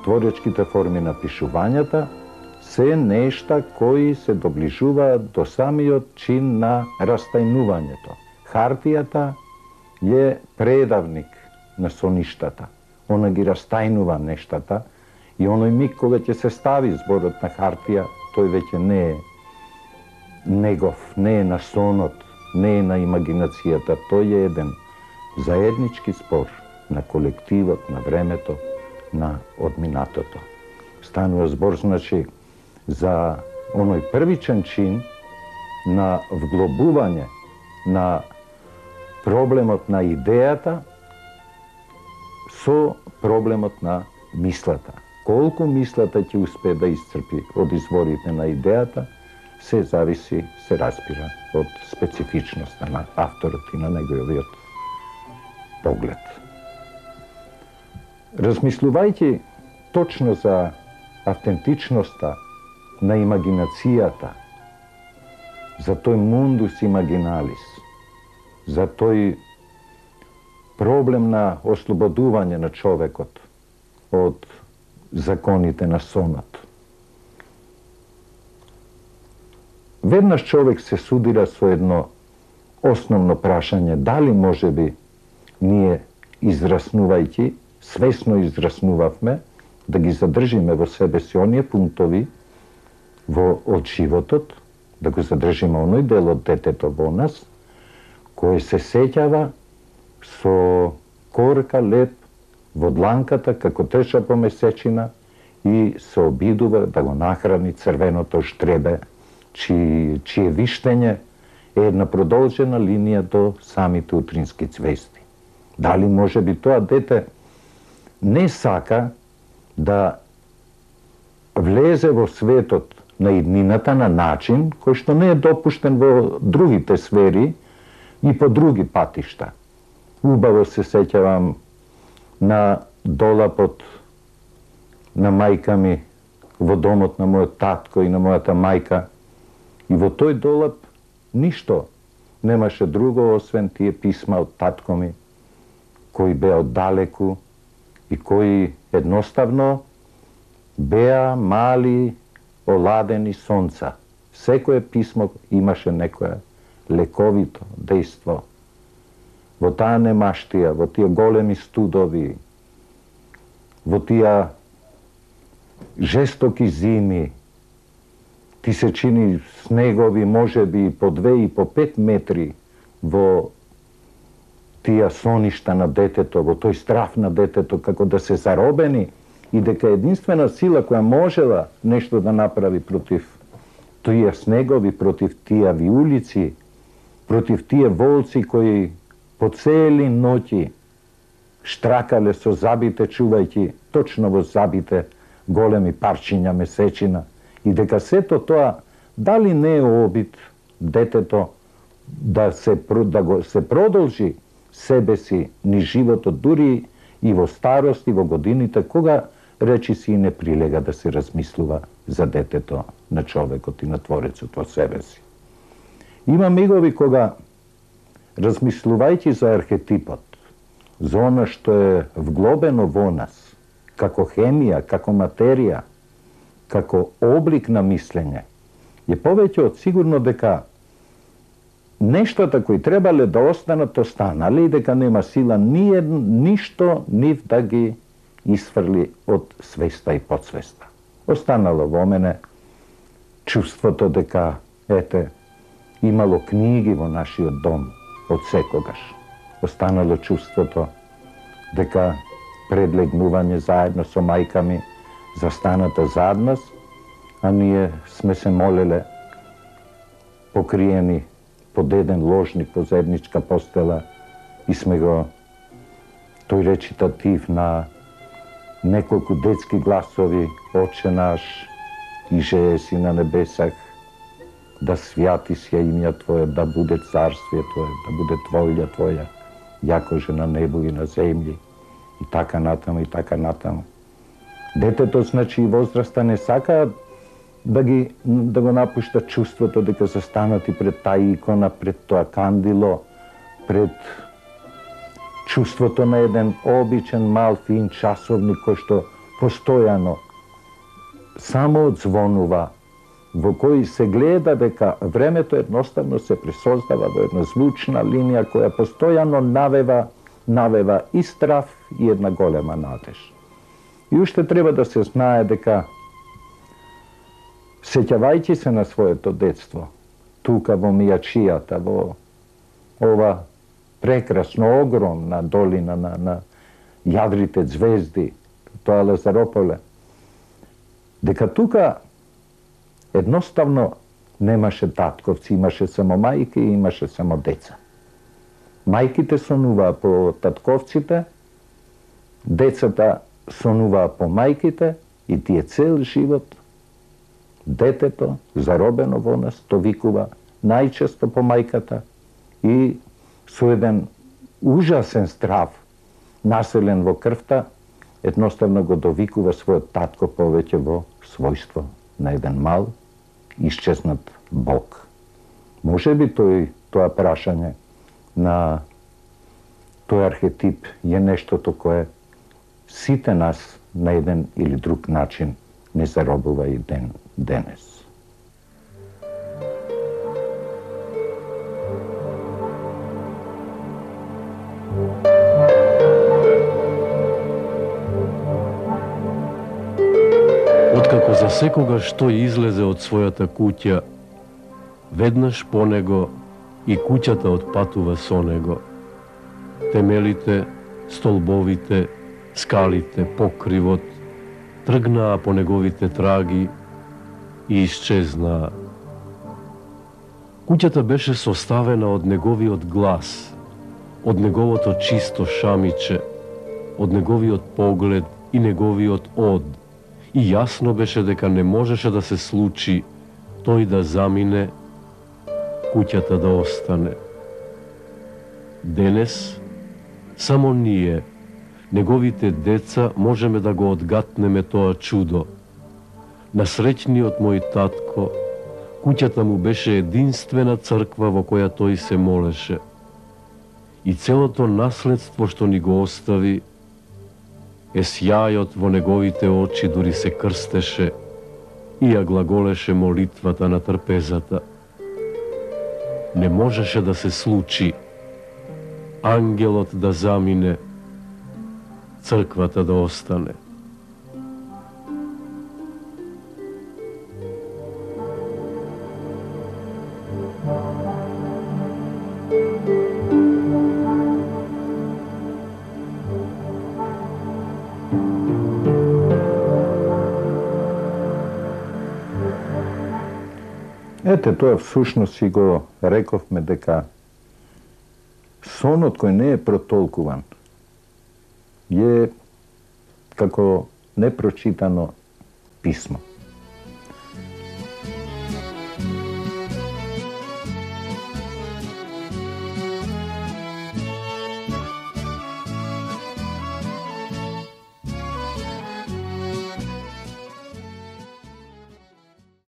творечките форми на пишувањата се нешта кои се доближуваат до самиот чин на растајнувањето. Хартијата е предавник на соништата. Она ги растајнува нештата и оној миг кога ќе се стави зборот на хартија, тој веќе не е негов, не е на сонот, не е на имагинацијата, тој е еден заеднички спор на колективот, на времето, на одминатото. Станува збор, значи, за оној првичен чин на вглобување на проблемот на идејата со проблемот на мислата. Колку мислата ќе успее да исцрпи од изворите на идејата, се зависи, се разбира, од специфичноста на авторот и на неговиот поглед. Размислувајќи точно за автентичноста на имагинацијата, за тој мундус имагиналис, за тој проблем на ослободување на човекот од законите на сонот. Веднаш човек се судира со едно основно прашање, дали можеби ние израснувајќи, свесно израснувавме, да ги задржиме во себе си оние пунктови од животот, да го задржиме оној дел од детето во нас, кој се сеќава со корка леп во дланката како треша по месечина и се обидува да го нахрани црвеното штребе, чие виштење е една продолжена линија до самите утрински цвести. Дали може би тоа дете не сака да влезе во светот на иднината на начин кој што не е допуштен во другите сфери и по други патишта. Убаво се сеќавам на долапот на мајка ми во домот на мојот татко и на мојата мајка. И во тој долап ништо немаше друго освен тие писма од татко ми, кои беа оддалеку и кои едноставно беа мали оладени сонца. Секое писмо имаше некое лековито дејство. Во таа немаштија, во тие големи студови, во тие жестоки зими, ти се чини снегови можеби по 2 и по 5 метри во тие соништа на детето, во тој страф на детето, како да се заробени и дека единствена сила која можела нешто да направи против тие снегови, против тие виулици, против тие волци кои по цели ноќи штракале со забите, чувајќи точно во забите големи парчиња месечина, и дека сето тоа дали не е обид детето да се продолжи себе си ни животот, дури и во старост и во годините, кога речи си и не прилега да се размислува за детето на човекот и на Творецот во себе си. Има мигови кога, размислувајќи за архетипот, за она што е вглобено во нас, како хемија, како материја, како облик на мислење, е повеќе од сигурно дека нештата кои требале да останат, останале и дека нема сила ништо нив да ги исфрли од свеста и подсвеста. Останало во мене чувството дека, ете, имало книги во нашиот дом од секогаш. Останало чувството дека предлегнување заедно со мајка ми застаната зад нас, а ние сме се молеле покриени под еден ложник, по заедничка постела и сме го тој речитатив на неколку детски гласови, Отче наш, иже си на небесах, да свјати се имја Твое, да буде царствие Твое, да буде волја Твоја, јако же на небо и на земји, и така натаму, и така натаму. Детето, значи, и возраста не сакаат да го напушта чувството дека застанати пред таа икона, пред тоа кандило, пред чувството на еден обичен мал фин часовник кој што постојано само одзвонува, во кој се гледа дека времето едноставно се пресоздава во една звучна линија која постојано навева и страв и една голема надеж. И уште треба да се знае дека, сеќавајќи се на своето детство, тука во Мијачијата, во ова прекрасно, огромна долина на јадрите звезди, тоа Лазарополе, дека тука едноставно немаше татковци, имаше само мајки и имаше само деца. Мајките сонуваа по татковците, децата сонуваа по мајките и тие цел живот детето, заробено во нас, то викува најчесто по мајката и со еден ужасен страв населен во крвта, едноставно го довикува својот татко повеќе во својство на еден мал, исчезнат Бог. Може би тоа прашање на тој архетип е нештото кое сите нас на еден или друг начин не заробува и денес. Откако за секогаш тој излезе од својата куќа, веднаш по него и куќата отпатува со него. Темелите, столбовите, скалите, покривот, тргнаа по неговите траги и исчезнаа. Куќата беше составена од неговиот глас, од неговото чисто шамиче, од неговиот поглед и неговиот од. И јасно беше дека не можеше да се случи тој да замине, куќата да остане. Денес, само ние, неговите деца, можеме да го одгатнеме тоа чудо. На среќниот мој татко, куќата му беше единствена црква во која тој се молеше. И целото наследство што ни го остави, е сјајот во неговите очи, дури се крстеше и ја глаголеше молитвата на трпезата. Не можеше да се случи ангелот да замине, црквата да остане. Ете, тоа всушност си го рековме дека сонот кој не е протолкуван е како непрочитано писмо.